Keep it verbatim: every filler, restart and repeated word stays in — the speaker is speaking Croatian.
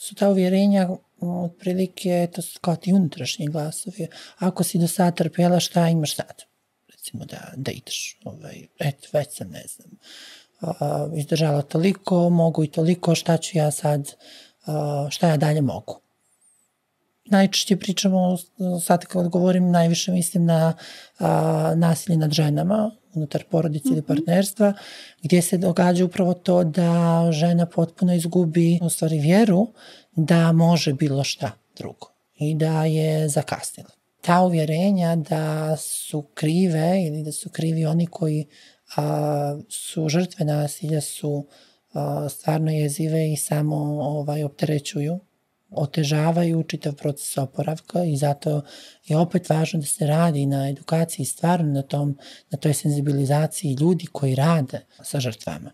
su ta uvjerenja otprilike, to su kao ti unutrašnji glasovi. Ako si do sada trpjela, šta imaš sad? Recimo da, da ideš. Ovaj, eto, već sam, ne znam, uh, izdržala toliko, mogu i toliko, šta ću ja sad, uh, šta ja dalje mogu. Najčešće pričamo, sad kad govorim, najviše mislim na a, nasilje nad ženama, unutar porodice mm-hmm. ili partnerstva, gdje se događa upravo to da žena potpuno izgubi u stvari vjeru da može bilo šta drugo i da je zakasnila. Ta uvjerenja da su krive ili da su krivi oni koji a, su žrtve nasilja su a, stvarno jezive i samo ovaj, opterećuju, otežavaju čitav proces oporavka i zato je opet važno da se radi na edukaciji, stvarno na, tom, na toj senzibilizaciji ljudi koji rade sa žrtvama.